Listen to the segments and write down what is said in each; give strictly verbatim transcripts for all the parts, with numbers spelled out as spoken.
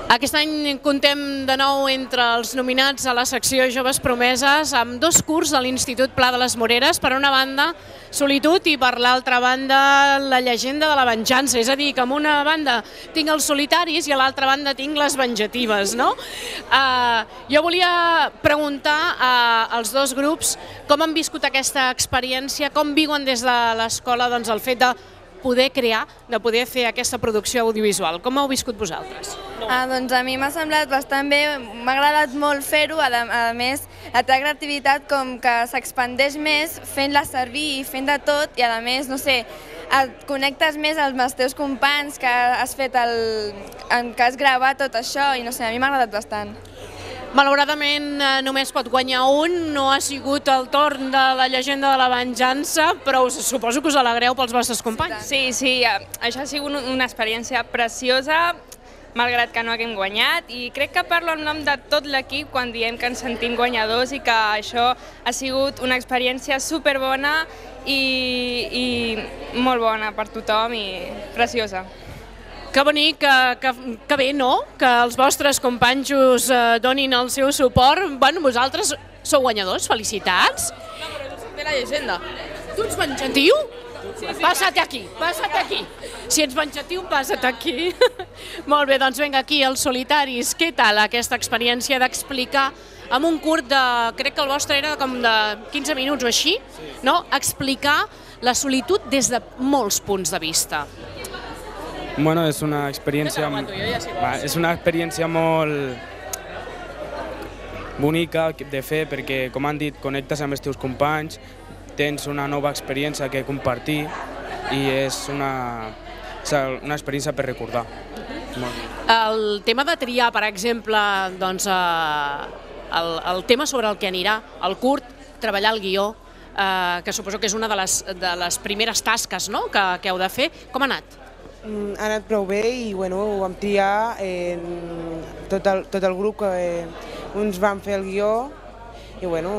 Aquest any contem de nou entre els nominats a la secció Joves Promeses amb dos curs de l'Institut Pla de les Moreres, per una banda Solitud i per l'altra banda La llegenda de la venjança, és a dir, que amb una banda tinc els solitaris i a l'altra banda tinc les venjatives, no? Uh, jo volia preguntar uh, als dos grups com han viscut aquesta experiència, com viuen des de l'escola doncs, el fet de poder crear, de poder fer aquesta producció audiovisual. Com ho heu viscut vosaltres? Ah, doncs a mi m'ha semblat bastant bé, m'ha agradat molt fer-ho, a, a més la teva creativitat com que s'expandeix més fent-la servir i fent de tot i a més, no sé, et connectes més amb els teus companys que has fet el, que has gravat tot això i no sé, a mi m'ha agradat bastant. Malauradament només pot guanyar un, no ha sigut el torn de La llegenda de la venjança, però suposo que us alegreu pels vostres companys. Sí, sí, això ha sigut una experiència preciosa, malgrat que no haguem guanyat, i crec que parlo en nom de tot l'equip quan diem que ens sentim guanyadors i que això ha sigut una experiència superbona i, i molt bona per tothom i preciosa. Que bonic, que, que, que bé, no?, que els vostres companys us eh, donin el seu suport. Bueno, vosaltres sou guanyadors, felicitats. No, però tu ets de La llegenda. Tu ets venjatiu? Sí, sí, passa't aquí, passa't aquí. Si ets venjatiu, passa't aquí. Molt bé, doncs vinga, aquí, els solitaris. Què tal aquesta experiència d'explicar amb un curt de, crec que el vostre era com de quinze minuts o així, no?, explicar la solitud des de molts punts de vista. Bueno, és una experiència, va, és una experiència molt bonica de fer perquè, com han dit, connectes amb els teus companys, tens una nova experiència que compartir i és una, una experiència per recordar. El tema de triar, per exemple, doncs, el, el tema sobre el que anirà, el curt, treballar el guió, eh, que suposo que és una de les, de les primeres tasques, no?, que, que heu de fer, com ha anat? Ha anat prou bé i bueno, ho vam triar eh, tot, el, tot el grup, que eh, uns van fer el guió i bueno,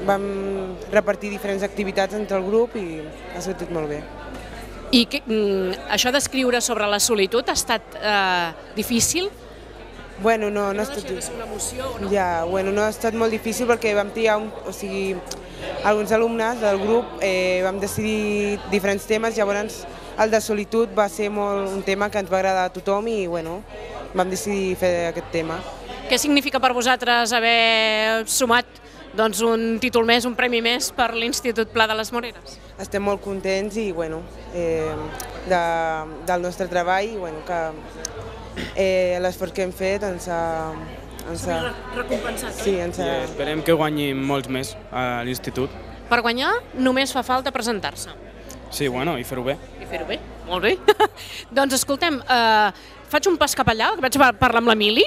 vam repartir diferents activitats entre el grup i ha sortit molt bé. I que, això d'escriure sobre la solitud ha estat eh, difícil? Bueno, no, no, no ha estat... de ser una emoció, no? Ja, bueno, no ha estat molt difícil perquè vam triar, un, o sigui, alguns alumnes del grup eh, vam decidir diferents temes, llavors el de solitud va ser molt un tema que ens va agradar a tothom i bueno, vam decidir fer aquest tema. Què significa per vosaltres haver sumat doncs, un títol més, un premi més per l'Institut Pla de les Moreres? Estem molt contents i bueno, eh, de, del nostre treball i bueno, que eh, l'esforç que hem fet ens ha... Ens ha recompensat. Sí, ens ha... I esperem que guanyin molts més a l'institut. Per guanyar només fa falta presentar-se. Sí, bueno, i fer-ho bé. I fer-ho bé, molt bé. Doncs escoltem, eh, faig un pas cap allà, que vaig parlar amb l'Emili.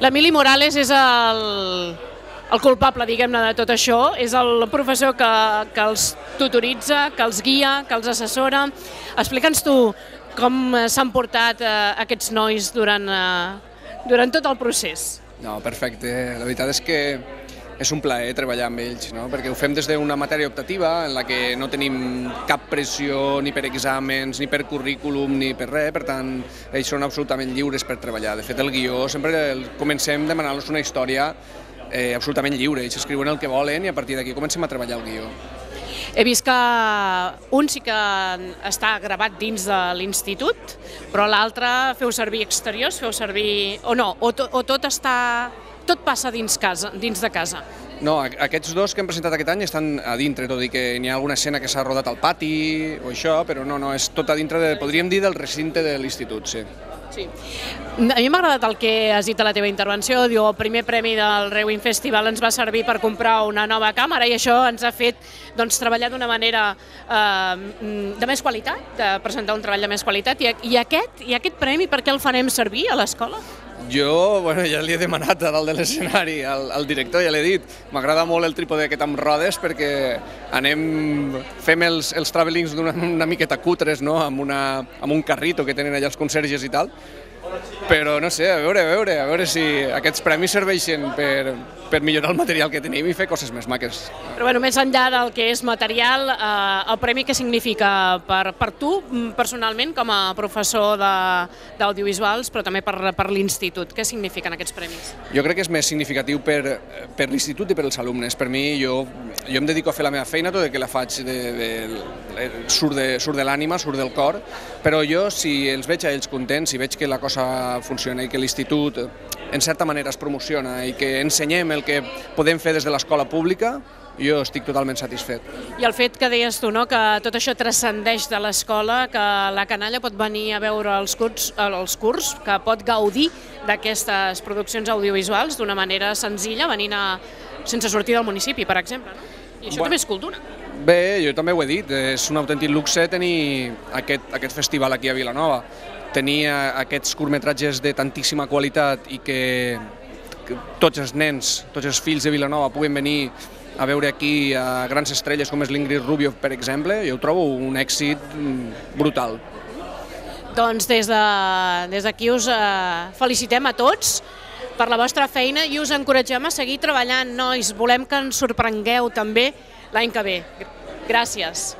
L'Emili Morales és el, el culpable, diguem-ne, de tot això. És el professor que, que els tutoritza, que els guia, que els assessora. Explica'ns tu com s'han portat eh, aquests nois durant, eh, durant tot el procés. No, perfecte. La veritat és que és un plaer treballar amb ells, no? Perquè ho fem des d'una matèria optativa en la que no tenim cap pressió ni per exàmens, ni per currículum, ni per res, per tant, ells són absolutament lliures per treballar. De fet, el guió sempre el comencem demanant-los una història eh, absolutament lliure. Ells escriuen el que volen i a partir d'aquí comencem a treballar el guió. He vist que un sí que està gravat dins de l'institut, però l'altre feu servir exteriors, feu servir... o no, o, to, o tot està... tot passa dins, casa, dins de casa. No, aquests dos que hem presentat aquest any estan a dintre, tot i que n'hi ha alguna escena que s'ha rodat al pati o això, però no, no, és tot a dintre, de, podríem dir, del recinte de l'institut, sí. Sí. A mi m'ha agradat el que has dit a la teva intervenció, diu, el primer premi del Rewind Festival ens va servir per comprar una nova càmera i això ens ha fet doncs, treballar d'una manera eh, de més qualitat, de presentar un treball de més qualitat. I, i, aquest, I aquest premi per què el farem servir a l'escola? Jo, bueno, ja li he demanat a dalt de l'escenari al, al director, ja l'he dit, m'agrada molt el trípode aquest amb rodes perquè anem, fem els, els travelings d'una una miqueta cutres, no?, amb, una, amb un carrito que tenen allà els conserges i tal, però no sé, a veure, a veure, a veure si aquests premis serveixen per, per millorar el material que tenim i fer coses més maques. Però bueno, més enllà del que és material, eh, el premi què significa per, per tu personalment com a professor d'audiovisuals, però també per, per l'institut? Què signifiquen aquests premis? Jo crec que és més significatiu per, per l'institut i per als alumnes. Per mi, jo, jo em dedico a fer la meva feina, tot i que la faig de, de, de, surt de, surt de l'ànima, surt del cor, però jo, si els veig a ells contents, si veig que la cosa funciona i que l'institut en certa manera es promociona i que ensenyem el que podem fer des de l'escola pública, jo estic totalment satisfet. I el fet que deies tu, no?, que tot això transcendeix de l'escola, que la canalla pot venir a veure els curs, els curs que pot gaudir d'aquestes produccions audiovisuals d'una manera senzilla, venint a, sense sortir del municipi, per exemple, no? I això Bueno. també és cultura. Bé, jo també ho he dit, és un autèntic luxe tenir aquest, aquest festival aquí a Vilanova. Tenir aquests curtmetratges de tantíssima qualitat i que, que tots els nens, tots els fills de Vilanova puguen venir a veure aquí a grans estrelles com és l'Ingrid Rubio, per exemple, jo ho trobo un èxit brutal. Doncs des de- des d'aquí us eh, felicitem a tots per la vostra feina i us encoratgem a seguir treballant, nois. Volem que ens sorprengueu també l'any que ve. Gràcies.